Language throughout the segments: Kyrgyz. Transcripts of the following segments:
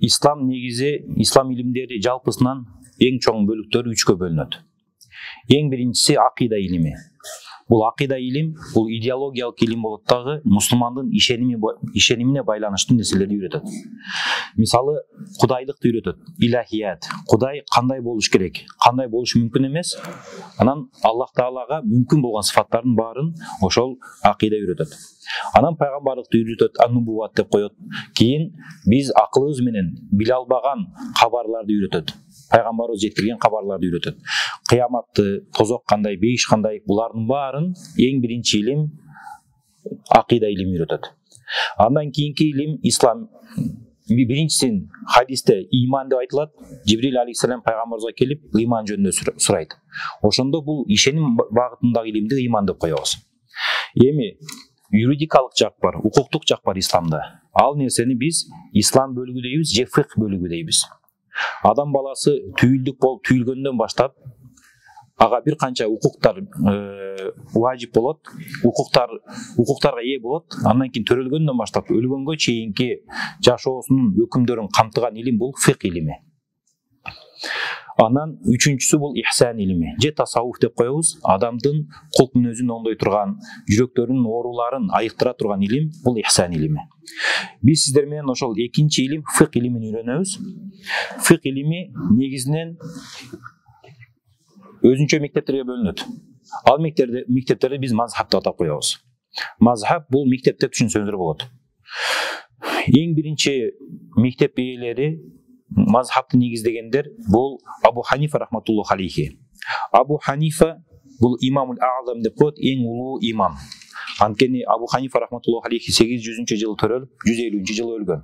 ислам негизи, ислам илимдери жалпысынан эң чоң бөлүктөрү 3кө бөлүнөт. Эң биринчиси акыйда илими. Бул акыйда илим, бул идеологиялык илим болот дагы, мусулмандын ишенимине байланыштуу нерселерди үйрөтөт. Мисалы, кудайлыкты үйрөтөт, илахият, Кудай кандай болуш керек, кандай болуш мүмкүн эмес, анан Аллах Таалага мүмкүн болгон сыфаттардын баарын ошол акыйда үйрөтөт. Анан пайгамбарлыкты үйрөтөт, ан-нубувват деп коет. Кийин биз акылыбыз менен биле албаган кабарларды үйрөтөт. Пайгамбарыбыз жеткирген кабарларды үйрөтөт. Кыяматты, тозок кандай, бейиш кандай, булардын баарын эң биринчи илим акыйда илими үйрөтөт. Андан кийинки илим ислам. Биринчисин хадисте иман деп айтылат. Жибрил алейхиссалам пайгамбарыбызга келип, иман жөнүндө сурайт. Ошондо бул ишеним багытындагы илимди иман деп коебуз. Эми юридикалык жак бар, укуктук жак бар исламда. Ал нерсени биз ислам бөлүгү дейбиз, же фикх бөлүгү дейбиз. Адам баласы түйүлдүк болуп түйүлгөндөн баштап ага бир канча укуктар важип болот, укуктарга ээ болот. Андан кийин төрөлгөндөн баштап өлгөнгө чейинки жашоосунун өкүмдөрүн камтыган илим бул фикх илими. Анан үчүнчүсү бул ихсан илими, же тасаввуф деп коебуз. Адамдын кулк мүнөзүн оңдой турган, жүрөктөрүнүн ооруларын айыктыра турган илим бул ихсан илими. Биз сиздер менен ошол экинчи илим фикх илимин үйрөнөбүз. Фикх илими негизинен өзүнчө мектептерге бөлүнөт. Ал мектептерди биз мазхаб деп атап коебуз. Мазхаб бул мектеп деп түшүнсөңүздөр болот. Эң биринчи мектеп ээлери, мазхабты негиздегендер бул Абу Ханифа рахматуллаху алейхи. Абу Ханифа бул имамул а'зам деп коет, эң улуу имам. Анткени Абу Ханифа рахматуллаху алейхи 800-жылы төрөлүп, 150-жылы өлгөн.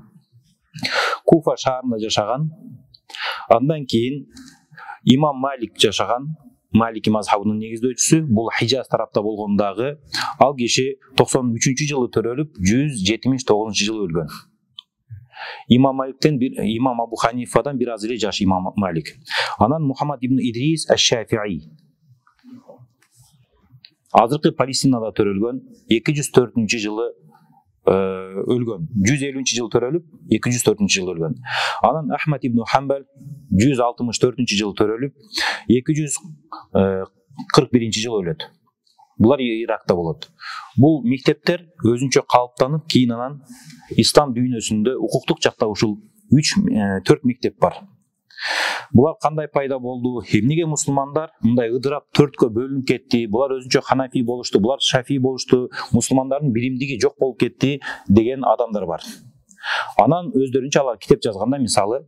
Куфа шаарында жашаган. Андан кийин имам Малик жашаган. Малики мазхабынын негиздөөчүсү, бул Хижаз тарапта болгондагы. Ал киши 93-жылы төрөлүп, 179-жылы өлгөн. Имам Абу Ханифадан бир аз эле жаш имам Малик. Анан Мухаммад ибн Идрис аш-Шафи'i. Азыркы Палестинада төрөлгөн, 204-жылы өлгөн. 150-жылы төрөлүп, 204-жылы өлгөн. Анан Ахмад ибн Хамбал 164-жылы төрөлүп, 241-жылы өлөт. Булар Иракта болот. Бул мектептер өзүнчө калыптанып, кийин анан ислам дүйнөсүндө укуктук жакта ушул 3-4 мектеп бар. Булар кандай пайда болду? Эмнеге мусулмандар мындай ыдырап 4кө бөлүнүп кетти? Булар өзүнчө ханафи болушту, булар шафи болушту, мусулмандардын биримдиги жок болуп кетти деген адамдар бар. Анан өздөрүнчө алар китеп жазганда, мисалы,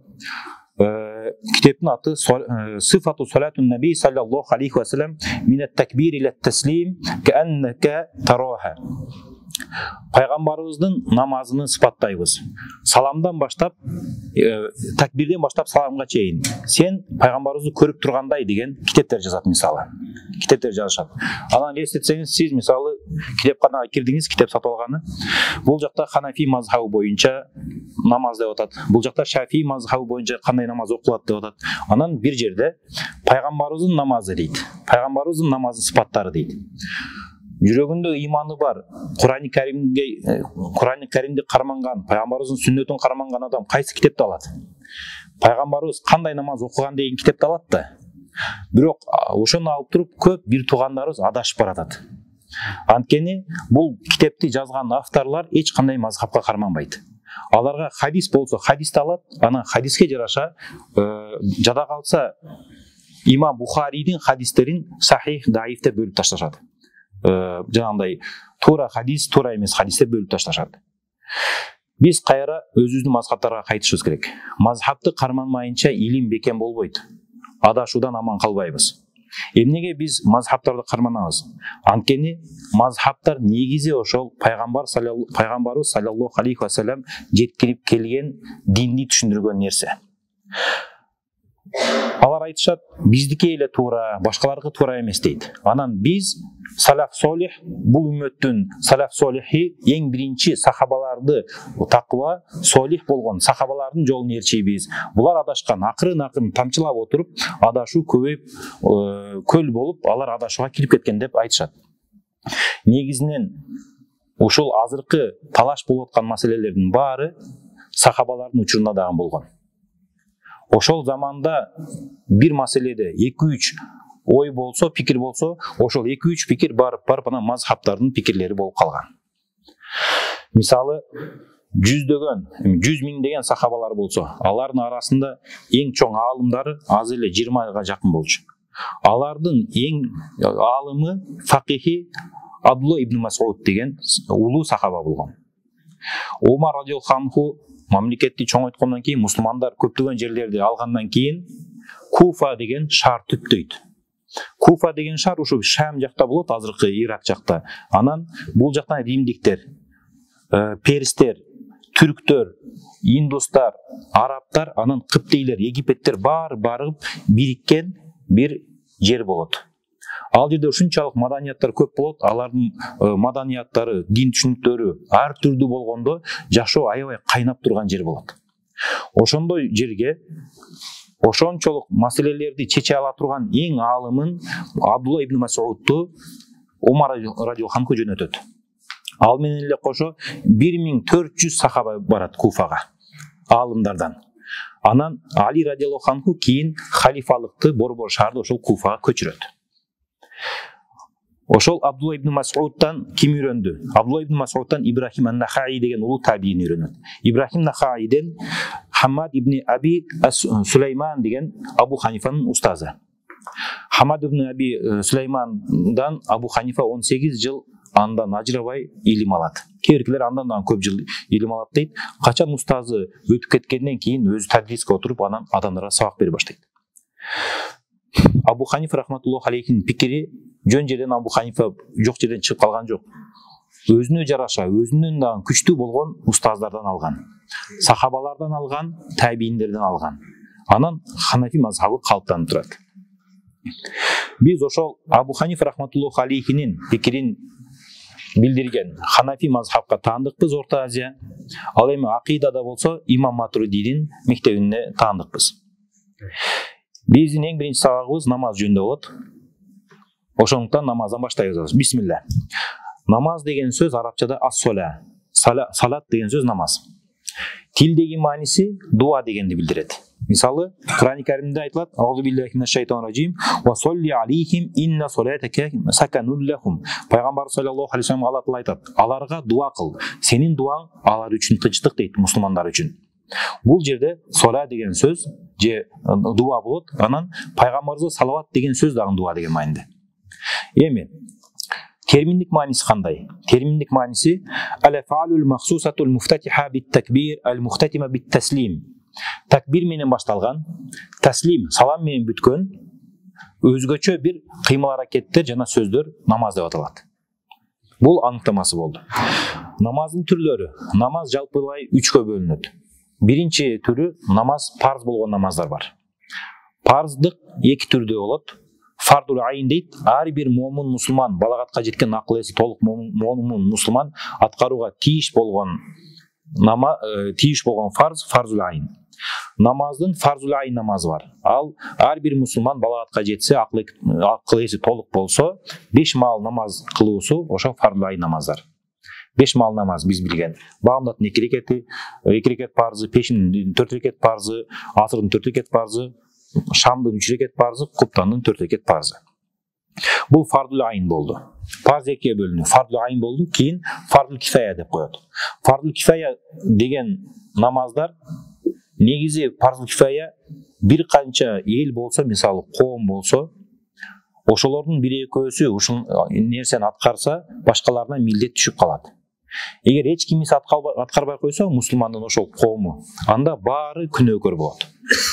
китептин аты Сифату салатун наби саллаллаху алейхи ва саллям минат такбир иля таслим кааннака тараха. Пайгамбарыбыздын намазын сыпаттайбыз. Саламдан баштап, такбирден баштап саламга чейин. Сен пайгамбарыбызды көрүп тургандай деген китептер жазат, мисалы. Китептер жазышат. Анан эстетсеңиз, сиз мисалы китепканага кирдиңиз, китеп сатып алганы. Бул жакта Ханафи мазхабы боюнча намаз деп атат. Бул жакта Шафи мазхабы боюнча кандай намаз окулат деп атат. Анан бир жерде пайгамбарыбыздын намазы дейт. Пайгамбарыбыздын намазынын сыпаттары дейт. Жүрөгүндө иманы бар, Кур'ан-ы Каримди карманган, пайгамбарыбыздын сүннөтүн карманган адам кайсы китепти алат? Пайгамбарыбыз кандай намаз окуган деген китепти алат да. Бирок ошону алып туруп көп бир туугандарыбыз адашып баратат. Анткени бул китепти жазган авторлар эч кандай мазхабка карманбайт. Аларга хадис болсо хадисти алат, анан хадиске жараша жада калса имам Бухаридин хадистерин сахих, даиф деп бөлүп ташташат. Жанагындай туура хадис, туура эмес хадис деп бөлүп ташташат. Биз кайра өзүбүздүн мазхабтарга кайтышыбыз керек. Мазхабты карманмайынча илим бекем болбойт. Адашуудан аман калбайбыз. Эмнеге биз мазхабтарды карманабыз? Анткени мазхабтар негизи ошол пайгамбарыбыз саллаллаху алейхи ва саллям жеткирип келген динди түшүндүргөн нерсе. Алар айтышат, биздики эле туура, башкалардыкы туура эмес дейт. Анан биз салаф солих, бул үммөттүн салаф солихи эң биринчи сахабаларды таква, солих болгон сахабалардын жолун ээрчийбиз. Булар адашкан, акырын тамчылап отуруп, адашуу көбөйүп, көл болуп, алар адашууга кирип кеткен деп айтышат. Негизинен ушул азыркы талаш болуп аткан маселелердин баары сахабалардын учурунда дагы болгон. ошол заманда бир маселеде 2-3 ой болсо, пикир болсо, ошол 2-3 пикир барып анан мазхабтардын пикирлери болуп калган. Мисалы, 100 миңдеген сахабалар болсо, алардын арасында эң чоң аалымдары аз эле 20-га жакын болчу. Алардын эң аалымы факихи Абдулла ибн Мас'уд деген улуу сахаба болгон. Умар радиаллаху анху мамлекетти чоңойткондон кийин, мусулмандар көптөгөн жерлерди алгандан кийин Куфа деген шаар түптөйт. Куфа деген шаар ушу Шам жакта болот, азыркы Ирак жакта. Анан бул жактан римдиктер, перстер, түрктөр, индустар, арабтар, анан кыптейлер, египеттер барып бириккен бир жер болот. Ал жерде ушунчалык маданияттар көп болот, алардын маданияттары, дин түшүнүктөрү ар түрдүү болгондо жашоо аябай кайнап турган жер болот. Ошондой жерге ошончолук маселелерди чече ала турган эң аалымын Абдулла ибн Мас'удду Умар радиаллаху анху жөнөтөт. Ал менен эле кошо 1400 сахаба барат Куфага аалымдардан. Анан Али радиаллаху анху кийин халифалыкты борбор шаарды ошол Куфага көчүрөт. Ошол Абдулла ибн Мас'уддан ким үйрөндү? Абдулла ибн Мас'уддан Ибрахим ан-Нахаи деген улуу табиин үйрөнөт. Ибрахим Нахаиден Хаммад ибн Аби Сулейман деген Абу Ханифанын устазы. Хаммад ибн Аби Сулеймандан Абу Ханифа 18 жыл андан ажырабай илим алат. Кейбиркилер андан көп жыл илим алат дейт. Качан устазы өтүп кеткенден кийин өзү тадриске отуруп анан адамдарга сабак бере баштайт. Абу Ханифа рахматуллаху алейхинин пикири жөн жерден Абу Ханифа жок жерден чыгып калган жок. Өзүнө жараша, өзүнөн дагы күчтүү болгон устаздардан алган, сахабалардан алган, табииндерден алган. Анан Ханафи мазхабы калыптанып турат. Биз ошол Абу Ханифа рахматуллаху алейхинин пикирин билдирген Ханафи мазхабка таандыкпыз Орто Азия. Ал эми акыйдада болсо Имам Матуридинин мектебине таандыкпыз. Биздин эң биринчи сабагыбыз намаз жөнүндө болот. Ошондуктан намаздан баштайбыз. Бисмилла. Намаз деген сөз арабчада ас-сола. Салат деген сөз намаз. Тилдеги мааниси дуа дегенди билдирет. Мисалы, Кур'ан-ы Каримде айтылат: "Аузу биллахи минаш шайтанир раджим, ва солли алейхим инна солатака саканул лахум." Пайгамбар саллаллаху алейхи ва саллям Алла Таала айтат: "Аларга дуа кыл. Сенин дуаң алар үчүн тынчтык" дейт, мусулмандар үчүн. Бул жерде сола деген сөз же дуа болот. Анан пайгамбарыбызга салават деген сөз дагы дуа деген маанинде. Эми терминдик мааниси кандай? Терминдик мааниси ал-фаалул махсусатул муфтатиха бит-такбир ал-мухтатима бит-таслим. Такбир менен башталган, таслим салам менен бүткөн өзгөчө бир кыймыл аракеттер жана сөздөр намаз деп аталат. Бул аныктамасы болду. Намаздын түрлөрү. Намаз жалпылай 3кө бөлүнөт. Биринчи түрү намаз парз болгон намаздар бар. Парздык 2 түрдө болот. Фардул айн дейт. Ар бир момун мусулман, балагатка жеткен акыл эси толук момун мусулман аткарууга тийиш болгон фарз, фарзул айн. Намаздын фарзул айн намазы бар. Ал ар бир мусулман балагатка жетсе, акыл эси толук болсо, 5 маал намаз кылуусу ошо фарзул айн намаздар. 5 маал намаз биз билген. Баамдаттын 2 рекети, 2 рекет парзы, пешиндин 4 рекет парзы, асырдын 4 рекет парзы, шамдын 3 рекет парзы, куптандын 4 рекет парзы. Бул фардул айн болду. Парз 2-ге бөлүнүп, фардул айн болду, кийин фардул кифая деп коет. Фардул кифая деген намаздар негизи фардул кифая бир канча эл болсо, мисалы коом болсо, ошолордун 1-2-өсү ушул нерсени аткарса, башкаларына милдет түшүп калат. Эгер эч кимиси аткарбай койсо, мусулмандын ошол коому, анда баары күнөөкөр болот.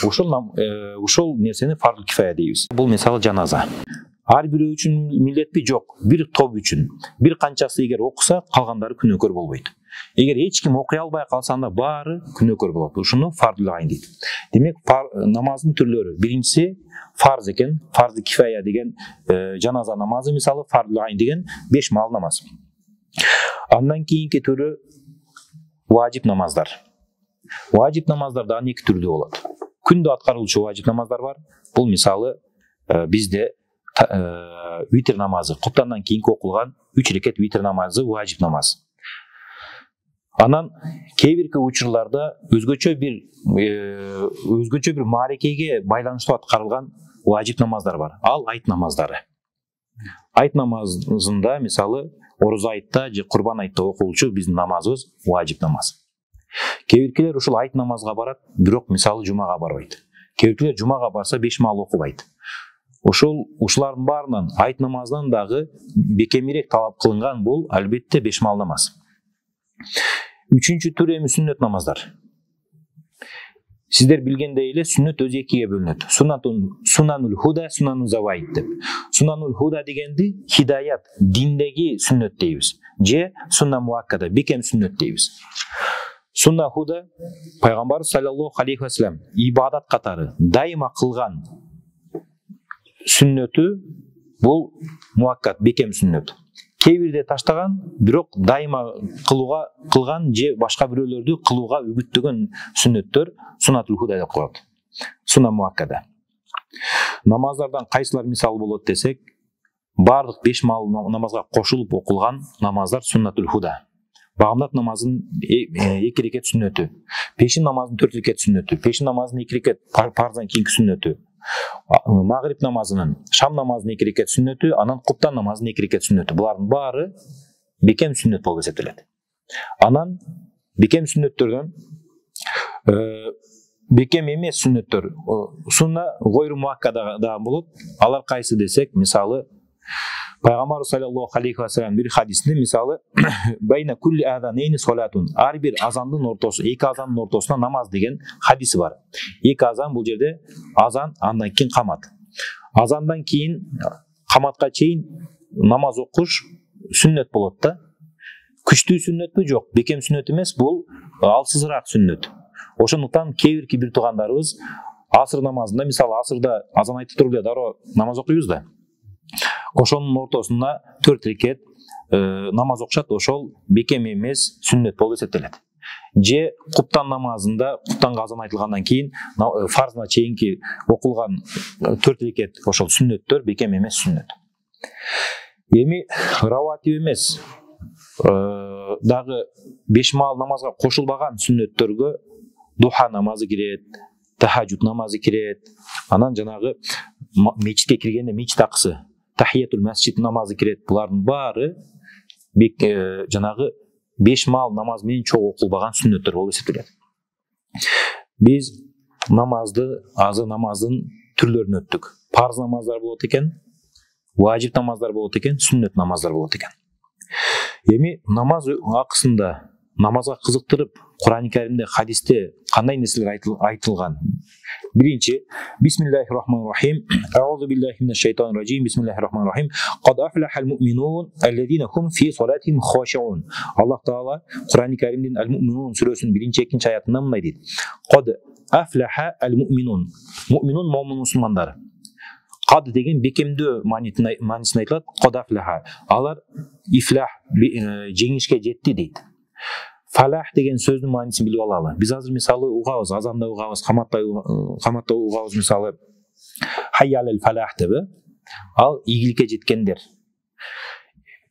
Ушул нерсени фардул кифая дейбиз. Бул мисалы жаназа. Ар бирөө үчүн милдетпи? Жок, бир топ үчүн. Бир канчасы эгер окуса, калгандары күнөөкөр болбойт. Эгер эч ким окуй албай калса, анда баары күнөөкөр болот. Ушуну фардул айн дейт. Демек, намаздын түрлөрү. Биринчиси фарз экен, фардул кифая деген жаназа намазы, мисалы фардул айн деген 5 маал намаз. Андан кийинки түрү важип намаздар. Важип намаздар да 2 түрдө болот. Күндө аткарылчу важип намаздар бар. Бул мисалы бизде витр намазы, куптандан кийинки окулган 3 рекет витр намазы важип намаз. Анан кээ бирки учурларда өзгөчө бир маарекеге байланыштуу аткарылган важип намаздар бар. Ал айт намаздары. Айт намазында, мисалы, Оруза айтта же Курбан айтта окулчу биздин намазыбыз важип намаз. Кээ биркилер ушул айт намазга барат, бирок мисалы жумага барбайт. Кээ биркилер жумага барса 5 маал окубайт. Ушулардын баарынан айт намазынан дагы бекемирээк талап кылынган бул албетте 5 маал намаз. Үчүнчү түр эми сүннөт намаздар. Сиздер билгендей эле сүннөт өзү экиге бөлүнөт. Сунанул худа, сунанул заваид деп. Сунанул худа дегенди хидаят, диндеги сүннөт дейбиз. Же сунна муаккада, бекем сүннөт дейбиз. Сунна худа пайгамбар саллаллаху алейхи ва саллям ибадат катары дайыма кылган сүннөтү бул муаккат, бекем сүннөт. Кээ бирде таштаган, бирок дайыма кылган же башка бирөөлөрдү кылууга үгүттөгөн сүннөттөр сунатул худа деп коет. Сунна муаккада. Намаздардан кайсылар мисал болот десек, бардык 5 маал намазга кошулуп окулган намаздар суннатул худа. Багамдат намазынын 2 рекет сүннөтү, пешин намазынын 4 рекет сүннөтү, пешин намазынын 2 рекет парздан кийинки сүннөтү, магриб намазынын, шам намазынын 2 рекет сүннөтү, анан куптан намазынын 2 рекет сүннөтү. Булардын баары бекем сүннөт болуп эсептелет. Анан бекем сүннөттөрдөн бекем эмес сүннөттөр сунна гойру муаккада да болот. Алар кайсы десек, мисалы пайгамбар саллаллаху алейхи ва саллям бир хадисинде мисалы байна кулли азанейни салатун, ар бир азандын ортосу, эки азандын ортосуна намаз деген хадиси бар. Эки азан бул жерде азан, андан кийин камат. Азандан кийин каматка чейин намаз окуш сүннөт болот да. Күчтүү сүннөтпү? Жок, бекем сүннөт эмес, бул алсызыраак сүннөт. Ошондуктан кээ бирки бир туугандарыбыз асыр намазында, мисалы асырда азан айтып туруп эле дароо намаз окуйбуз да. Ошонун ортосуна 4 рекет намаз окушат, ошол бекем эмес сүннөт болуп эсептелет. Же куптан намазында, куптанга азан айтылгандан кийин фарзына чейинки окулган 4 рекет ошол сүннөттөр бекем эмес сүннөт. Эми раватиб эмес дагы 5 маал намазга кошулбаган сүннөттөргө духа намазы кирет, тахажжуд намазы кирет, анан жанагы мечитке киргенде мечит акысы, тахиятул масжид намазы кирет. Булардын баары жанагы 5 маал намаз менен чогуу окулбаган сүннөттөр болуп эсептелет. Биз намазды, азыр намаздын түрлөрүн өттүк. Парз намаздар болот экен, важип намаздар болот экен, сүннөт намаздар болот экен. Эми намаз акысында намазга кызыктырып, Кур'ан-ы Каримде, хадисте кандай нерселер айтылган? Биринчи, бисмиллахир-рахманир-рахим, аузу биллахи минаш шайтанир-раджим, бисмиллахир-рахманир-рахим, кад афлахал муъминун аллазина хум фи салатихим хашиун. Аллах Таала Кур'ан-ы Каримдин Ал-Муъминун сүрөсүнүн 1-2 аятында мындай дейт: кад афлаха ал-муъминун, муъминун момун мусулмандар. Кад деген бекемдөө маанисин айтылат. Кад афлаха, алар ифлах, жеңишке жетти дейт. Фалах деген сөздүн маанисин билип алалы. Биз азыр мисалы угабыз, азанда угабыз, каматта угабыз, мисалы хайя алал фалах деп. Ал ийгиликке жеткендер.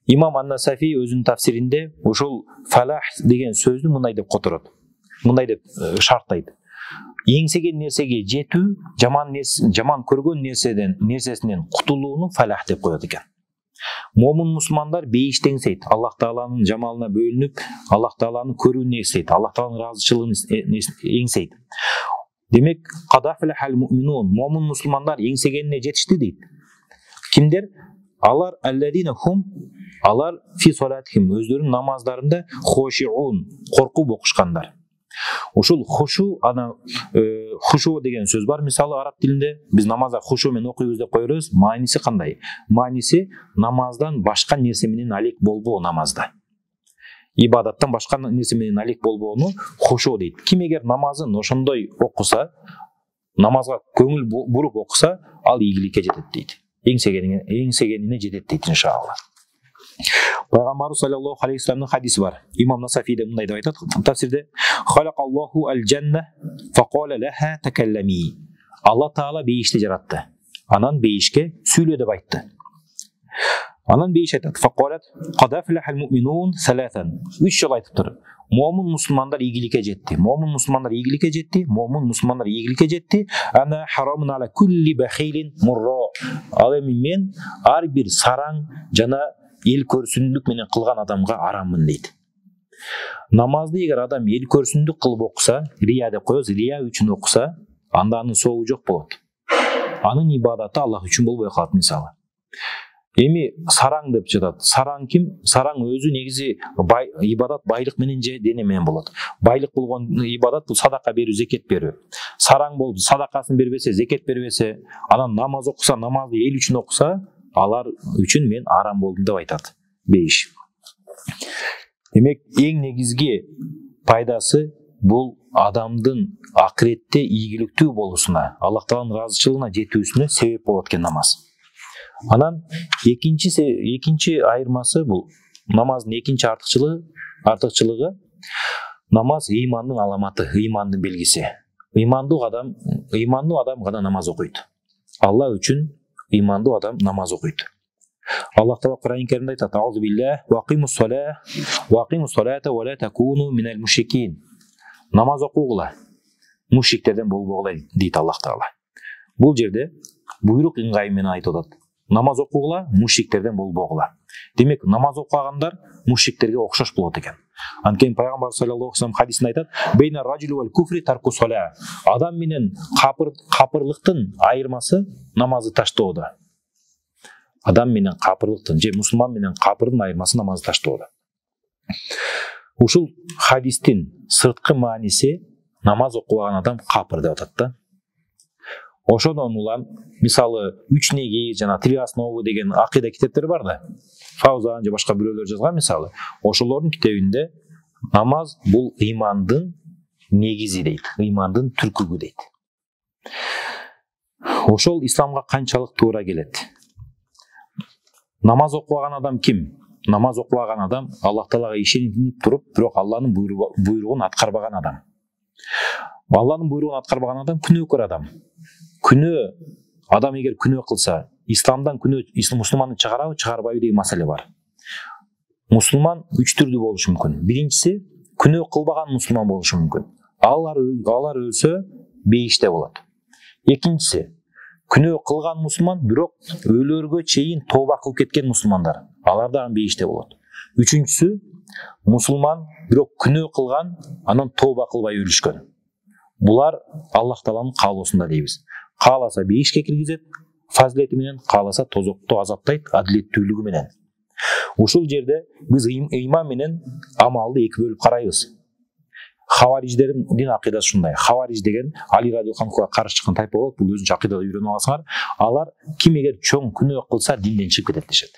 Имам Ан-Насафи өзүнүн тафсиринде ушул фалах деген сөздү мындай деп которот. Мындай деп шарттайт: эңсеген нерсеге жетүү, жаман көргөн нерсесинен кутулууну фалах деп коет экен. Момун мусулмандар бейишти эңсейт, Аллах Тааланын жамалына бөлүнүп, Аллах Тааланын көрүүнү эстейт, Аллах Тааланын ыраазычылыгын эңсейт. Демек, кадафлахал муъминун, момун мусулмандар эңсегенине жетишти дейт. Кимдер? Алар алладина хум, алар фи салатихим, өздөрүнүн намаздарында хошиун, коркуп окушкандар. Ушул хушу, ана хушу деген сөз бар мисалы араб тилинде. Биз намазда хушу менен окуйбуз деп коебуз. Мааниси кандай? Мааниси намаздан башка нерсе менен алек болбоо намазда. Ибадаттан башка нерсе менен алек болбоону хушу дейт. Ким эгер намазын ошондой окуса, намазга көңүл буруп окуса, ал ийгиликке жетет дейт. Эңсегенине жетет дейт иншалла. Пайгамбар саллаллаху алейхи ва салламдын хадиси бар. Имам Насафиде мындай деп айтат тафсирде: "Халакаллаху аль-жанна факала лаха такаллами." Алла Таала бейишти жаратты. Анан бейишке сүйлө деп айтты. Анан бейиш айтат: "Фақалат қад афлахал муъминун саласан." 3 жолу айтыптыр. Момун мусулмандар ийгиликке жетти. Момун мусулмандар ийгиликке жетти. Момун мусулмандар ийгиликке жетти. Ана харамун ала кулли бахилин мурро. Ал эми мен ар бир сараң жана эл көрсүндүк менен кылган адамга араммын дейт. Намазды эгер адам эл көрсүндүк кылып окуса, рия деп коебуз, рия үчүн окуса, анда анын соогу жок болот. Анын ибадаты Аллах үчүн болбой калат мисалы. Эми сараң деп жатат. Сараң ким? Сараң өзү негизи ибадат байлык менен же дене менен болот. Байлык болгон ибадат бул садака берүү, зекет берүү. Сараң болуп садакасын бербесе, зекет бербесе, анан намаз окуса, намазды эл үчүн окуса, алар үчүн мен арам болдум деп айтат бейиш. Демек, эң негизги пайдасы бул адамдын акыретте ийгиликтүү болушуна, Аллах Тааланын ыраазычылыгына жетүүсүнө себеп болот экен намаз. Анан экинчи айырмасы бул намаздын экинчи артыкчылыгы намаз ыймандын аламаты, ыймандын белгиси. Ыймандуу адам гана намаз окуйт. Алла үчүн ыймандуу адам намаз окуйт. Аллах Таала Кур'ан-ы Каримде айтат: "Аузу биллах ва акимус салата ва ла такуну минал мушрикин." Намаз окугула, мушриктерден болбогула дейт Аллах Таала. Бул жерде буйрук ыңгай менен айтып атат. Намаз окугула, мушриктерден болбогула. Демек, намаз окугандар мушриктерге окшош болот экен. Анткени пайгамбар саллаллаху алейхи ва саллям хадисинде айтат: "Бейна раджули вал куфри тарку сала." Адам менен капырлыктын айырмасы намазды таштоодо. Адам менен капырлыктын же мусулман менен капырдын айырмасы намазды таштоодо. Ушул хадистин сырткы мааниси намаз окубаган адам капыр деп атат да. Ошодон улам мисалы 3 неги жана 3 основы деген акыйда китептер бар да. Фаузан же башка бирөөлөр жазган мисалы. Ошолордун китебинде намаз бул ыймандын негизи дейт, ыймандын түркүгү дейт. Ошол исламга канчалык туура келет? Намаз окубаган адам ким? Намаз окубаган адам Аллах Таалага ишенип туруп, бирок Алланын буйругун аткарбаган адам. Алланын буйругун аткарбаган адам күнөөкөр адам. Күнөө адам эгер күнөө кылса, исламдан күнөө мусулманды чыгарабы, чыгарбайбы деген маселе бар. Мусулман 3 түрдүү болушу мүмкүн. Биринчиси күнөө кылбаган мусулман болушу мүмкүн. Алар өлсө бейиште болот. Экинчиси күнөө кылган мусулман, бирок өлөргө чейин тооба кылып кеткен мусулмандар. Алар дагы бейиште болот. Үчүнчүсү мусулман, бирок күнөө кылган, анан тооба кылбай өлүшкөн. Булар Аллах Тааланын каалоосунда дейбиз. Кааласа бейишке киргизет, фазилети менен, кааласа тозокто азаптайт, адилеттүүлүгү менен. Ушул жерде биз ыйман менен амалды эки бөлүп карайбыз. Хавариждердин акыйдасы ушундай. Хавариж деген Али радиаллаху анхуга каршы чыккан тайпа болот. Бул өзүнчө акыйдада үйрөнүп аласыңар. Алар ким эгер чоң күнөө кылса динден чыгып кетет дешет.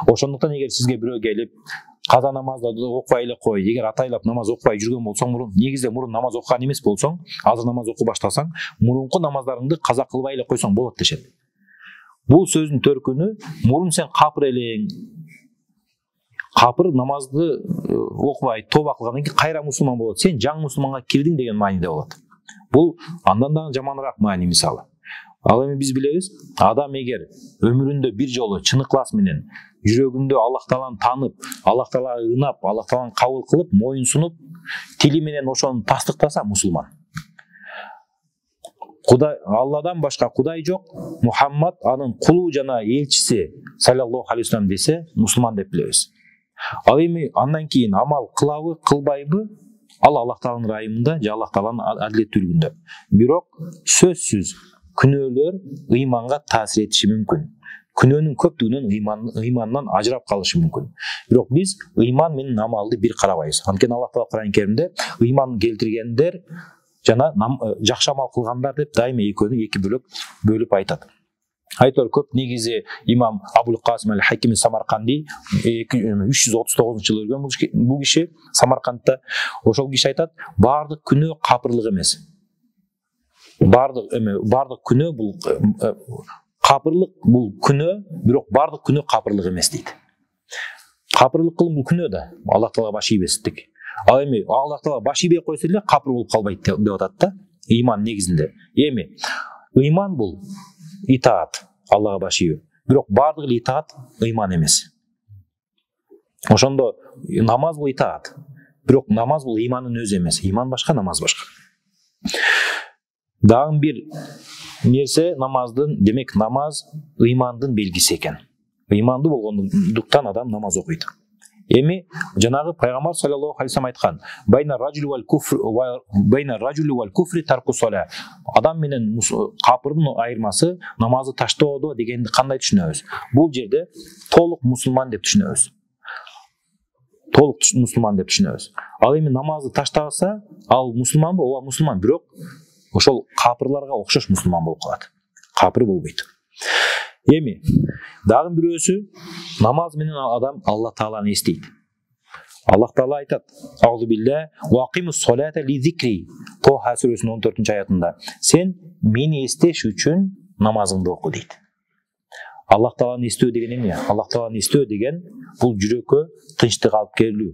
Ошондуктан эгер сизге бирөө келип каза намазды окубай эле кой, эгер атайлап намаз окубай жүргөн болсоң, негизде мурун намаз окуган эмес болсоң, азыр намаз окуп баштасаң, мурунку намаздарыңды каза кылбай эле койсоң болот дешет. Бул сөздүн төркүнү мурун сен капыр элең, капыр намазды окубай тооба кылгандан кийин кайра мусулман болот. Сен жаңы мусулманга кирдиң деген мааниде болот. Бул андан да жаманыраак маани мисалы. Ал эми биз билебиз, адам эгер өмүрүндө бир жолу чын ыклас менен жүрөгүндө Аллах Тааланы танып, Аллах Таалага ынап, Аллах Тааланы кабыл кылып, моюн сунуп, тили менен ошону тастыктаса мусулман. Кудай Алладан башка кудай жок, Мухаммад анын кулу жана элчиси саллаллаху алейхи ва саллям десе, мусулман деп билебиз. Ал эми андан кийин амал кылабы, кылбайбы? Ал Аллах Тааланын райымында же Аллах Тааланын адилеттүүлүгүндө. Бирок сөзсүз күнөөлөр ыйманга таасир этиши мүмкүн. Күнөөнүн көптүгүнөн ыймандан ажырап калышы мүмкүн. Бирок биз ыйман менен амалды бир карабайбыз. Анткени Аллах Таала Кур'ан-ы Каримде ыйман келтиргендер жана жакшы амал кылгандар деп дайыма экөөнү эки бөлүп айтат. Айтор көп, негизи имам Абул Касим аль-Хаким Самарканди 339-жылы өлгөн бул киши Самаркандта. Ошол киши айтат, бардык күнөө капырлык эмес. Бардык күнөө бул капырлык, бул күнөө, бирок бардык күнөө капырлык эмес дейт. Капырлык кылым бул күнөө да, Аллах Таалага баш ийбестик. Ал эми Аллах Таалага баш ийбей койсо эле капыр болуп калбайт деп атат да, ыйман негизинде. Эми ыйман бул итаат, Аллага баш ийүү. бирок баардык эле итаат ыйман эмес. Ошондо намаз бул итаат, бирок намаз бул ыймандын өзү эмес. Ыйман башка, намаз башка. Дагы бир нерсе намаздын, демек намаз ыймандын белгиси экен. Ыймандуу болгондуктан адам намаз окуйт. Эми жанагы пайгамбар саллаллаху алейхи вассалам айткан: "Байна ражули вал куфри тарку сола". Адам менен капырдын айырмасы намазды таштоодо дегенди кандай түшүнөбүз? Бул жерде толук мусулман деп түшүнөбүз. Толук мусулман деп түшүнөбүз. Ал эми намазды таштабаса, ал мусулманбы? Ооба мусулман, бирок ошол капырларга окшош мусулман болуп калат. Капыр болбойт. Эми дагы бирөөсү, намаз менен адам Аллах Тааланы эстейт. Аллах Таала айтат: "Аузу билля ва акимус солата ли зикри". Тоха сүрөсүнүн 14-аятында: "Сен мени эстеш үчүн намазыңды оку" дейт. Аллах Тааланы эстөө деген эмне? Аллах Тааланы эстөө деген бул жүрөккө тынчтык алып келүү,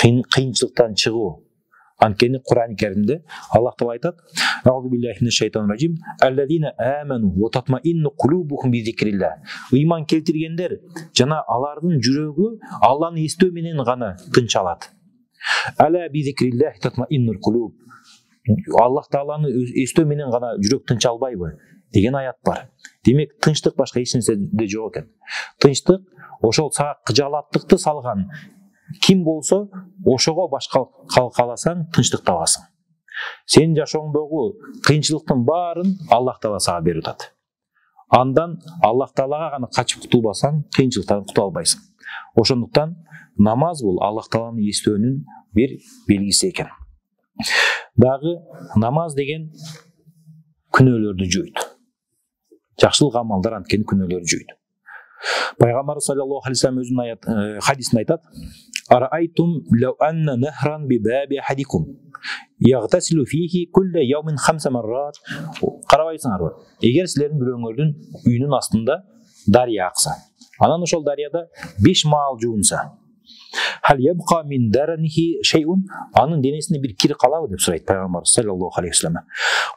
кыйынчылыктан чыгуу. Анткени Кур'ан-ы Каримде Аллах Таала айтат: "Аузу биллахи минаш шайтанир ражим. Аллазина аману ва татмаинну кулубухум би зикрилlah". Ыйман келтиргендер жана алардын жүрөгү Алланы эстөө менен гана тынч алат. Ала би зикрилlah татмаиннул кулуб. Аллах Тааланы эстөө менен гана жүрөк тынч албайбы деген аят бар. Демек тынчтык башка эч нерседе жок экен. Тынчтык ошол сага кыжаалаттыкты салган ким болсо ошого башка каласаң тынчтык табасың. Сенин жашооңдогу кыйынчылыктын баарын Аллах Таала сага берип атат. Андан Аллах Таалага гана качып кутулбасаң, кыйынчылыктан кутула албайсың. Ошондуктан намаз бул Аллах Тааланы эстөөнүн бир белгиси экен. Дагы намаз деген күнөөлөрдү жуйт. Жакшылык амалдар анткени күнөөлөрдү жуйт. Пайгамбар саллаллаху алейхи вассалам өзүнүн хадисинде айтат: "Араайтум лау анна нахран би баби ахадикум ягтасилу фихи кулла яумин 5 маррат". Карабайсыңарбы? Эгер силердин бирөөңөрдүн үйүнүн астында дарыя акса, анан ошол дарыяда 5 маал жуунса, "Хал ябqa min daranihi shay'un", анын денесинде бир кир калабы деп сурайт пайгамбар саллаллаху алейхи вассалам.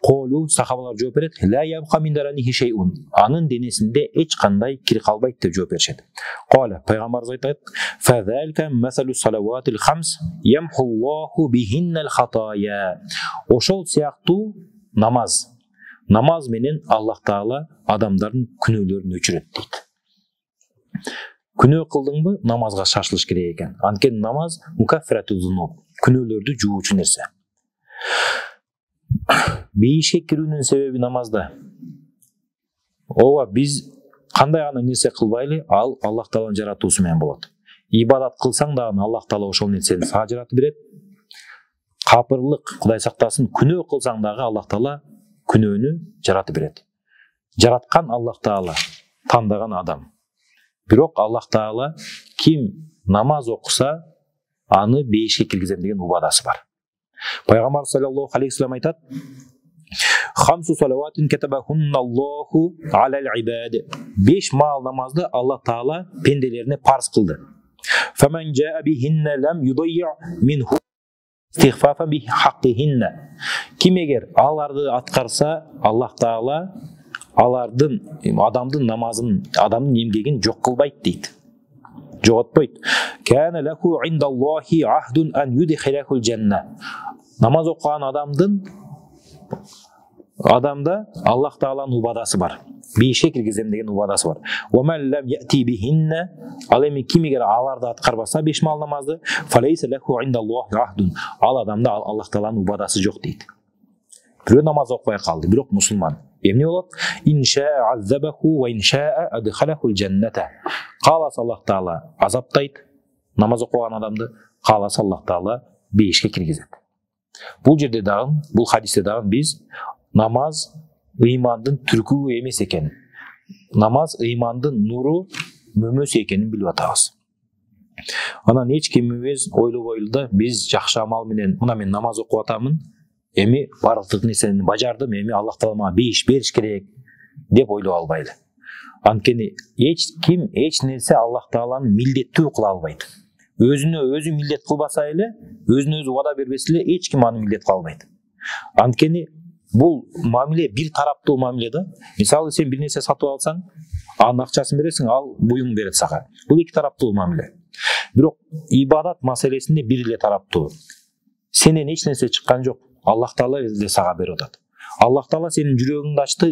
Колу сахабалар жооп берет: "Ла ябqa min daranihi shay'un", анын денесинде эч кандай кир калбайт деп жооп беришет. Кола пайгамбарыбыз айтат: "Фазалка масалу салаватил хамс ямхуллаху бихиннал хатая". Ошол сыяктуу намаз менен Аллах Таала адамдардын күнөөлөрүн өчүрөт дейт. Күнөө кылдыңбы, намазга шашылыш керек экен. Анткени намаз мукаффирату зунуб, күнөөлөрдү жуучу нерсе. Бейишке кирүүнүн себеби намазда. Ооба, биз кандай гана нерсе кылбайлы, ал Аллах Тааланын жаратуусу менен болот. Ибадат кылсаң дагы Аллах Таала ошол нерсени сага жаратып берет. Капырлык, Кудай сактасын, күнөө кылсаң дагы Аллах Таала күнөөнү жаратып берет. Жараткан Аллах Таала, тандаган адам. Бирок Аллах Таала ким намаз окуса, аны бейишке киргизем деген убадасы бар. Пайгамбар саллаллаху алейхи вассалам айтат: "Хамсу салаватин катабахунналлаху алал ибад". 5 маал намазды Аллах Таала пенделерине парз кылды. "Фаман жаа бихинна лам юдайя минху истигфафа би хаққихинна". Ким эгер аларды аткарса, Аллах Таала алардын адамдын намазын, адамдын эмгегин жок кылбайт дейт. Жоготпойт. "Кана лаху индаллахи ахдун ан юдхилахул жанна". Намаз окуган адамда Аллах Тааланын убадасы бар. Бейишке киргизем деген убадасы бар. "Ва ман лам яти бихинна", ал эми ким эгер аларды аткарбаса 5 маал намазды, "Фалайса лаху индаллахи ахдун", ал адамда Аллах Тааланын убадасы жок дейт. Бирөө намаз окубай калды, бирок мусулман. Эмне болот? "Иншаа аззабаху ва иншаа адхалахул жанната". Кааласа Аллах Таала азаптайт намаз окуган адамды, кааласа Аллах Таала бейишке киргизет. Бул жерде дагы, бул хадисте дагы биз намаз ыймандын түркүбү эмес экен. Намаз ыймандын нуру, мөмөсү экенин билип атабыз. Анан эч кимибиз ойлобойлу да, биз жакшы амал менен мына мен намаз окуп атамын, эми бардык нерсени бажардым, эми Аллах Таала мага бейиш бериш керек деп ойлоп албайлы. Анткени эч ким эч нерсе Аллах Тааланын милдеттүү кыла албайт. Өзүнө өзү милдет кылбаса эле, өзүнө өзү убада бербесе эле эч ким аны милдет кыла албайт. Анткени бул мамиле бир тараптуу мамиле да. Мисалы сен бир нерсе сатып алсаң, анын акчасын бересиң, ал буюң берет сага. Бул эки тараптуу мамиле. Бирок ибадат маселесинде бир эле тараптуу. Сенен эч нерсе чыккан жок. Аллах Таала эле сага берип атат. Аллах Таала сенин жүрөгүңдү ачты,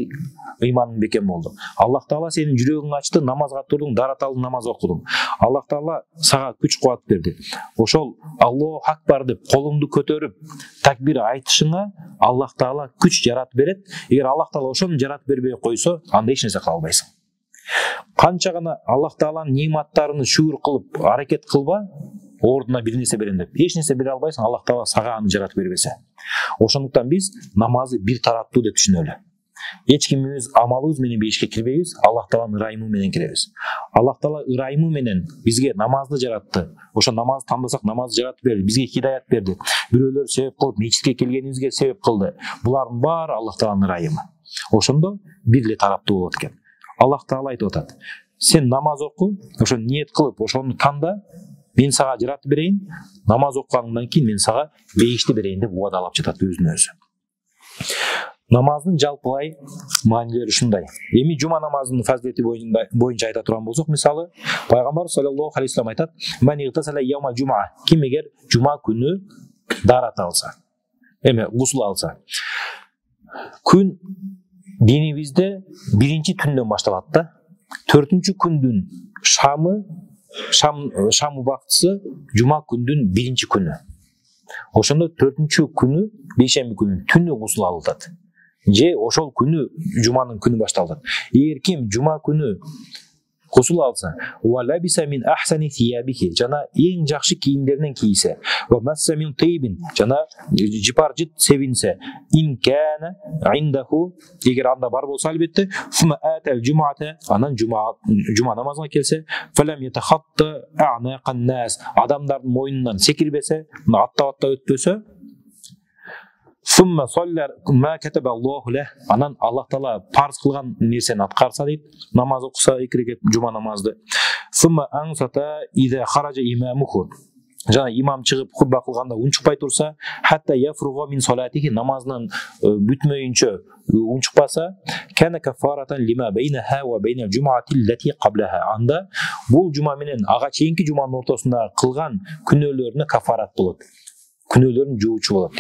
ыйманың бекем болду. Аллах Таала сенин жүрөгүңдү ачты, намазга турдуң, дараталдың намаз окудуң. Аллах Таала сага күч кубат берди. Ошол Аллаху акбар деп колуңду көтөрүп такбир айтышыңа Аллах Таала күч жаратып берет. Эгер Аллах Таала ошону жаратып бербей койсо, анда эч нерсе кыла албайсың. Канча гана Аллах Тааланын нематтарына шүгүр кылып, аракет кылба, ордуна бир нерсе берем деп. Эч нерсе бере албайсың, Аллах Таала сага аны жаратып бербесе. Ошондуктан биз намазды бир тараптуу деп түшүнөлү. Эч ким өз амалыбыз менен бейишке кирбейбиз, Аллах Тааланын ырайымы менен киребиз. Аллах Таала ырайымы менен бизге намазды жаратты. Ошо намазды тандасак, намазды жаратып берди, бизге хидаят берди. Бирөөлөр себеп кылып, мечитке келгенибизге себеп кылды. Булардын баары Аллах Тааланын ырайымы. Ошондо бир эле тараптуу болот экен. Аллах Таала айтып атат: сен намаз оку, ошо ниет кылып, ошону танда, мен сага жаратып берейин, намаз окугандан кийин мен сага бейишти берейин деп убадалап жатат өзүнө өзү. Намаздын жалпылай маанилери ушундай. Эми жума намазынын фазилети боюнча айта турган болсок, мисалы, пайгамбар саллаллаху алейхи вассалам айтат: "Ман игтасала яума жума", ким эгер жума күнү дарат алса, гусул алса. Күн динибизде биринчи түндөн башталат да. 4-күндүн шам убактысы жума күндүн биринчи күнү. Ошондо 4-күнү, бейшемби күнү түнү гусул алынат. Же ошол күнү жуманын күнү башталат. Эгер ким жума күнү гусул алса, ва лабиса мин ахсани сиябихи, жана эң жакшы кийимдеринен кийсе, ва масса мин тайбин, жана жипар жит себинсе, ин кана индаху, эгер анда бар болсо албетте, фума атал жумата, анан жума намазына келсе, фалам ятахатта а'нaqan нас, адамдардын мойнунан секирбесе, аттап өтпөсө, сумма соллар ма катаба Аллаху лах, анан Аллах Таала парз кылган нерсени аткарса дейт, намаз окуса, 2 рекет жума намазды. Сумма ансата иза хаража имамуху, жана имам чыгып хутба кылганда унчукпай турса, хатта яфруга мин салатихи, намазынан бүтмөйүнчө унчукпаса, кана кафаратан лима байнаха ва байнал жумати лати каблаха, анда бул жума менен ага чейинки жуманын ортосунда кылган күнөөлөрүнө кафарат болот, күнөөлөрүн жуучу болот.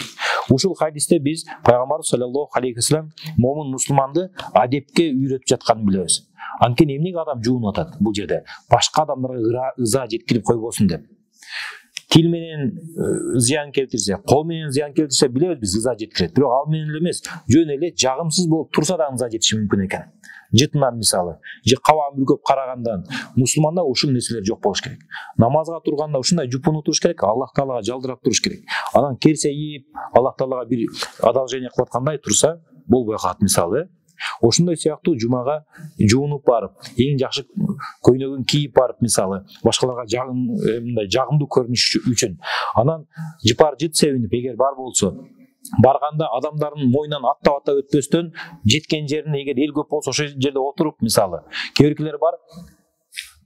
Ушул хадисте биз пайгамбар саллаллаху алейхи вассалам момун мусулманды адепке үйрөтүп жатканын билебиз. Анткени эмнеге адам жуунуп атат бул жерде? Башка адамдарга ыза жеткирип койбосун деп. Тил менен зыян келтирсе, кол менен зыян келтирсе билебиз биз ыза жеткирет. Бирок ал менен эле эмес, жөн эле жагымсыз болуп турса да ыза жетиши мүмкүн экен. Жытынан мисалы, же кабан бүркөп карагандан мусулманда ушул нерселер жок болуш керек. Намазга турганда ушундай жупуну туруш керек, Аллах Таалага жалдырап туруш керек. Анан керсейип, Аллах Таалага бир одолжение кылып аткандай турса, болбой калат мисалы. Ошондой сыяктуу жумага жуунуп барып, эң жакшы көйнөгүн кийип барып мисалы, башкаларга жагымдуу көрүнүш үчүн, анан жыпар жыт себинип, эгер бар болсо, барганда адамдардын мойнунан аттап өтпөстөн, жеткен жерине эгер эл көп болсо ошол жерде отуруп мисалы, кээ биркилер бар,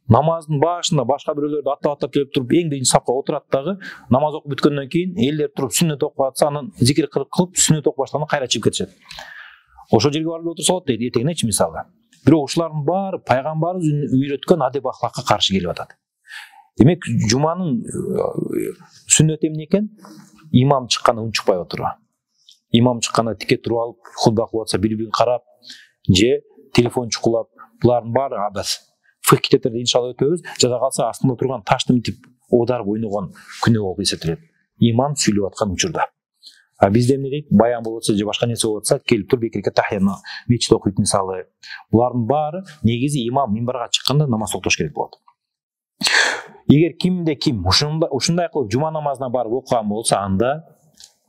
намаздын башында башка бирөөлөрдү аттап келип туруп, эң биринчи сапка отурат дагы, намаз окуп бүткөндөн кийин элдер туруп сүннөт окуп атса, анан зикир кылып сүннөт окуп баштаганда кайра чыгып кетишет. Ошол жерге барып отурса болот дейт этегинечи мисалы. Бирок ушулардын баары пайгамбарыбыз үйрөткөн адеп ахлакка каршы келип атат. Демек, жуманын сүннөтү эмне экен? Имам чыкканда унчукпай отуруу. Имам чыкканда тике туруп алып, хутба кылып атса бири-бирин карап, же телефон чукулап, булардын баары абас. Фикх китептерде иншалла өтөбүз, жада калса астында турган ташты митип оодарып ойногон күнөө болуп эсептелет. Имам сүйлөп аткан учурда. А бизде эмне дейт? Баян болуп атса же башка нерсе болуп атса, келип туруп экирке тахияны мечит окуйт мисалы. Булардын баары негизи имам минбарга чыкканда намаз окутуш керек болот. Эгер кимде ким ушундай кылып жума намазына барып окуган болсо, анда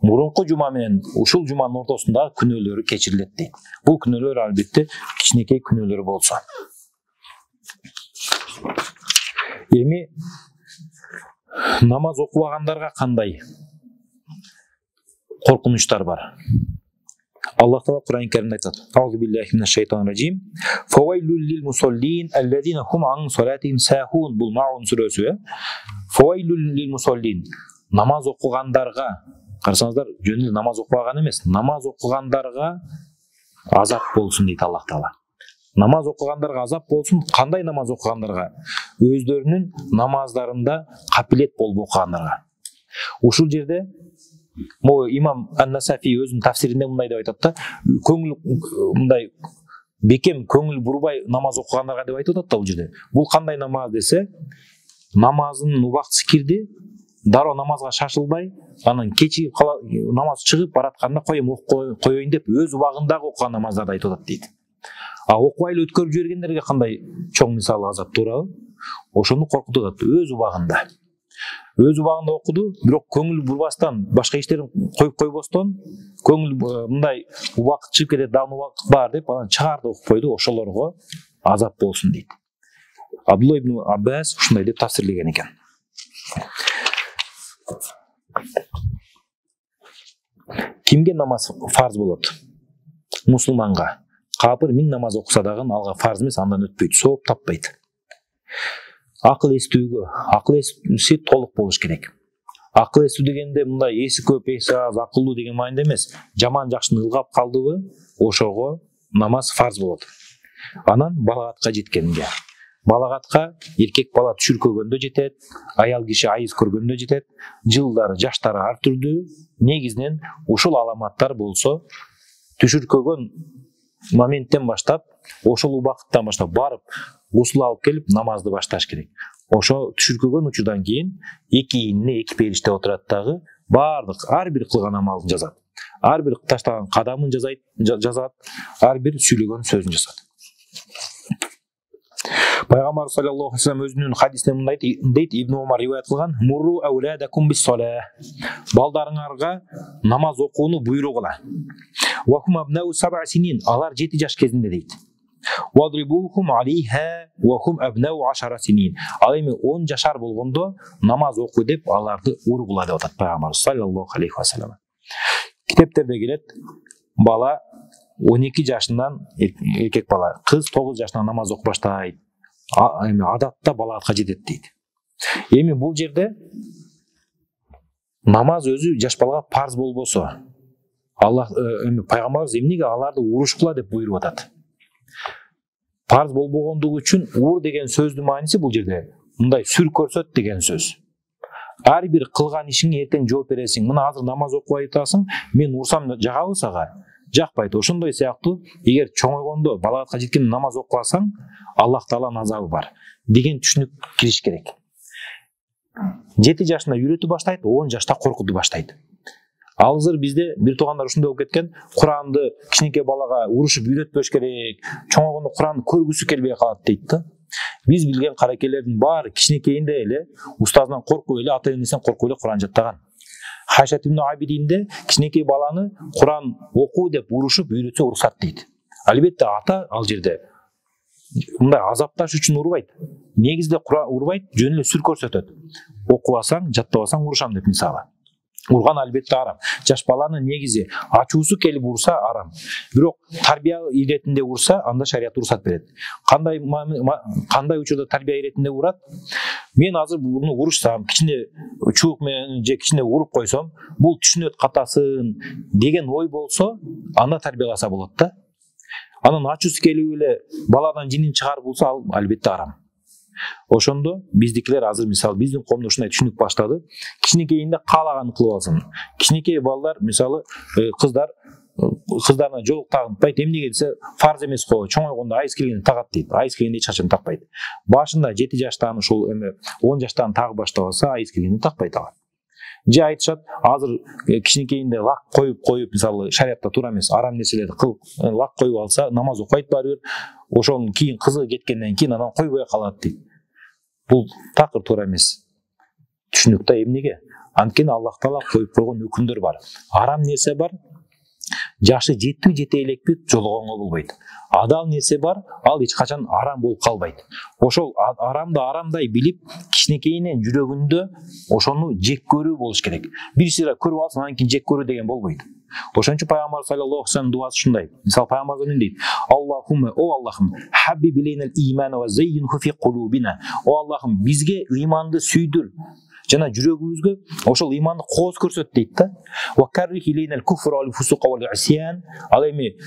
мурунку жума менен ушул жуманын ортосундагы күнөөлөрү кечирилет дейт. Бул күнөөлөр албетте кичинекей күнөөлөр болсо. Эми намаз окубагандарга кандай коркунучтар бар? Аллах Таала Кур'ан-ы Каримде айтат: "Аузу биллахи минаш шайтанир раджим. Фавайлул лил мусаллин аллазина хум ан салатихим сахун." Бул Маун сүрөсү. Фавайлул лил мусаллин. Намаз окугандарга карасаңыздар жөн эле намаз окубаган эмес, намаз окугандарга азап болсун дейт Аллах Таала. Намаз окугандарга азап болсун. Кандай намаз окугандарга? Өздөрүнүн намаздарында капилет болуп окугандарга. Ушул жерде имам Ан-Насафи өзүнүн тафсиринде мындай деп айтат да, көңүл мындай бекем көңүл бурбай намаз окугандарга деп айтып атат да бул жерде. Бул кандай намаз десе, намазынын убактысы кирди, дароо намазга шашылбай, анан кечигип намаз чыгып баратканда коеюн деп өз убагындагы окуган намаздарды айтып атат дейт. А окубай эле өткөрүп жибергендерге кандай чоң мисалы азап туурабы? Ошону коркутуп атат. Өз убагында окуду, бирок көңүл бурбастан, башка иштерин коюп койбостон, көңүл мындай убакыт чыгып кетет, дагы убакыт бар деп анан чыгарды окуп койду, ошолорго азап болсун дейт. Абдулла ибн Аббас ушундай деп тафсирлеген экен. Кимге намаз фарз болот? Мусулманга. Капыр 1000 намаз окуса дагы алга фарз эмес, андан өтпөйт, сооп таппайт. Акыл эстүүгө, акыл эси толук болуш керек. Акыл эстүү дегенде мындай эси көп, эси аз, акылдуу деген маанайда эмес. Жаман жакшыны ылгап калдыбы, ошого намаз фарз болот. Анан балагатка жеткенге. Балагатка эркек бала түшүркөгөндө жетет, аял киши айыз көргөндө жетет, жылдары, жаштары ар түрдүү. Негизинен ушул аламаттар болсо, түшүркөгөн моменттен баштап, ошол убакыттан баштап барып, гусул алып келип намазды башташ керек. Ошо түшүркөгөн учурдан кийин эки ийинине эки периште отурат дагы, бардык ар бир кылган амалын жазат. Ар бир таштаган кадамын жазат, ар бир сүйлөгөн сөзүн жазат. Пайгамбар саллаллаху алейхи ва саллям өзүнүн хадисинде мындай дейт, Ибн Умар риваят кылган: "Мурру ауладакум бис-салаа." Балдарыңарга намаз окууну буйрук кыла. "Ва хум абнау 7 синин." Алар 7 жаш кезинде дейт. "Вадрибухум алейха ва хум абнау 10 синин." Ал эми 10 жашар болгондо намаз окуу деп аларды ургула деп атат Пайгамбар саллаллаху алейхи ва саллям. Китептерде келет, бала 12 жашынан эркек бала, кыз 9 жашынан намаз окуп баштайт. Эми адатта балагатка жетет дейт. Эми бул жерде намаз өзү жаш балага парз болбосо, Аллах пайгамбарыбыз эмнеге аларды урушкула деп буйруп атат? Парз болбогондугу үчүн ур деген сөздүн мааниси бул жерде мындай сүр көрсөт деген сөз. Ар бир кылган ишиңе эртең жооп бересиң. Мына азыр намаз окубай атасың, мен урсам жагабы сага? Жакпайт. Ошондой сыяктуу эгер чоңойгондо балагатка жеткенде намаз окубасаң, Аллах Тааланын азабы бар деген түшүнүк кириш керек. 7 жашында үйрөтүп баштайт, 10 жашта коркутуп баштайт. Азыр бизде бир туугандар ушундай болуп кеткен, Куранды кичинекей балага урушуп үйрөтпөш керек, чоңойгондо Куранды көргүсү келбей калат дейт да. Биз билген каракелердин баары кичинекейинде эле устазынан коркуп эле, ата-энесинен коркуп эле Куран жаттаган. Хайшат ибн Абидинде кичинекей баланы Куран окуу деп урушуп үйрөтсө уруксат дейт. Албетте ата ал жерде мындай азапташ үчүн урбайт. Негизде Куран урбайт, жөн эле сүр көрсөтөт. Окубасаң, жаттабасаң урушам деп мисалы. Урган албетте арам. Жаш баланы негизи ачуусу келип урса арам. Бирок тарбия иретинде урса, анда шарият уруксат берет. Кандай учурда тарбия иретинде урат? Мен азыр буну урушсам, кичине чуук менен же кичине уруп койсом, бул түшүнөт катасын деген ой болсо, анда тарбияласа болот да. Анан ачуусу келип эле баладан жинин чыгарып булса, ал албетте арам. Ошондо биздикилер азыр мисалы биздин коомдо ушундай түшүнүк баштады. Кичинекейинде каалаган кылып алсын. Кичинекей балдар мисалы кыздарына жоолук тагынтпайт. Эмнеге десе, фарз эмес го, чоңойгондо айыз келгенде тагат дейт. Айыз келгенде эч качан такпайт. Башында 7 жаштан ушул 10 жаштан тагып баштабаса, айыз келгенде такпайт алар. Же айтышат, азыр кичинекейинде лак коюп мисалы шариатта туура эмес, арам нерселерди кылып лак коюп алса, намаз окуйт баары бир. Ошонун кийин кызыгы кеткенден кийин анан койбой калат дейт. Бул такыр туура эмес. Түшүнүктө эмнеге? Анткени Аллах Таала коюп койгон өкүмдөр бар. Арам нерсе бар. Жашы жете элекпи жологонго болбойт. Адал нерсе бар, ал эч качан арам болуп калбайт. Ошол арамды арамдай билип, кичинекейинен жүрөгүндө ошону жек көрүү болуш керек. Бир сыйра көрүп алсаң, анан кийин жек көрүү деген болбойт. Ошон үчүн Пайгамбар саллаллаху алейхи ва саллям дуасы ушундай. Мисалы Пайгамбар дейт: "Аллахумма, о Аллахым, хаббиб илейнал имана ва заййинху фи кулубина." О Аллахым, бизге ыйманды сүйдүр жана жүрөгүбүзгө ошол ыйманды кооз көрсөт дейт да. Ва каррих илейнал куфр вал фусук вал исян. Ал эми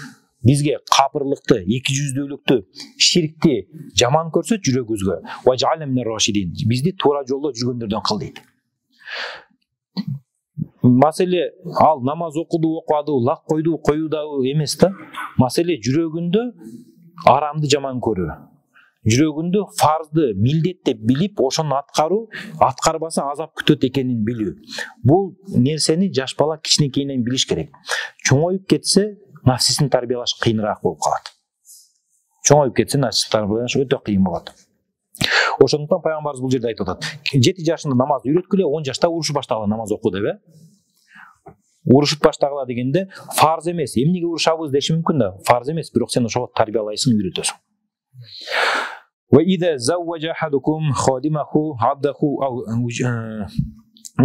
бизге капырлыкты, эки жүздүүлүктү, ширкти жаман көрсөт жүрөгүбүзгө. Ва жа'ална минар рашидин. Бизди туура жолдо жүргөндөрдөн кыл дейт. Маселе ал намаз окуду, окуаду, лак койду, коюудагы эмес да. Маселе жүрөгүндө арамды жаман көрүү. Жүрөгүндө фарзды милдет деп билип, ошону аткарбаса азап күтөт экенин билүү. Бул нерсени жаш бала кичинекейинен билиш керек. Чоңоюп кетсе, нафсисин тарбиялаш кыйыныраак болуп калат. Чоңоюп кетсе, нафсисин тарбиялаш өтө кыйын болот. Ошондуктан пайгамбарыбыз бул жерде айтып атат. 7 жашында намазды үйрөткүлө, 10 жашта урушуп баштагыла намаз оку деп. Урушуп баштагыла дегенде фарз эмес. Эмнеге урушабыз деши мүмкүн да. Фарз эмес, бирок сен ошого тарбиялайсың, үйрөтөсүң. Ва ида завважа ахадукум хадимаху абдаху ау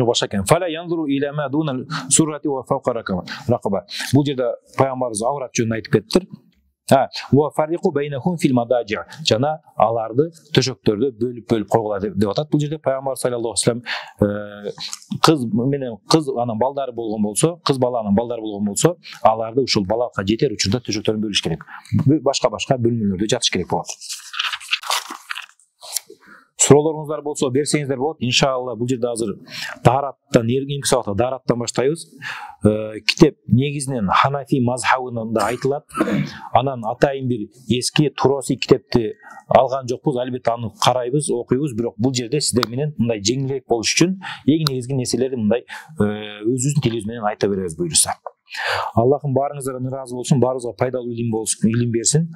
башакен фала янзуру иля ма дуна суррати ва фавqa ракаба. Бул жерде пайгамбарыбыз аврат жөнүндө айтып кеттир. Ва фарриqu байнахум фил мададжи. Жана аларды төшөктөрдө бөлүп койгула деп атат. Бул жерде пайгамбар саллаллаху алейхи вассалам кыз анан балдары болгон болсо, кыз баланын балдары болгон болсо, аларды ушул балакка жетер учурда төшөктөрүн бөлүш керек. Башка бөлмөлөрдө жатыш керек болот. Суроолоруңуздар болсо берсеңиздер болот. Иншалла бул жерде азыр даараттан эркинки сабакта даараттан баштайбыз. Китеп негизинен Ханафи мазхабында айтылат. Анан атайын бир эски Туроси китепти алган жокпуз. Албетте аны карайбыз, окуйбуз, бирок бул жерде сиздер менен мындай жеңилирээк болуш үчүн эң негизги нерселерди мындай өзүбүздүн тилибиз менен айта беребиз буюрса. Аллахым баарыңыздарга ыраазы болсун, баарыбызга пайдалуу илим берсин.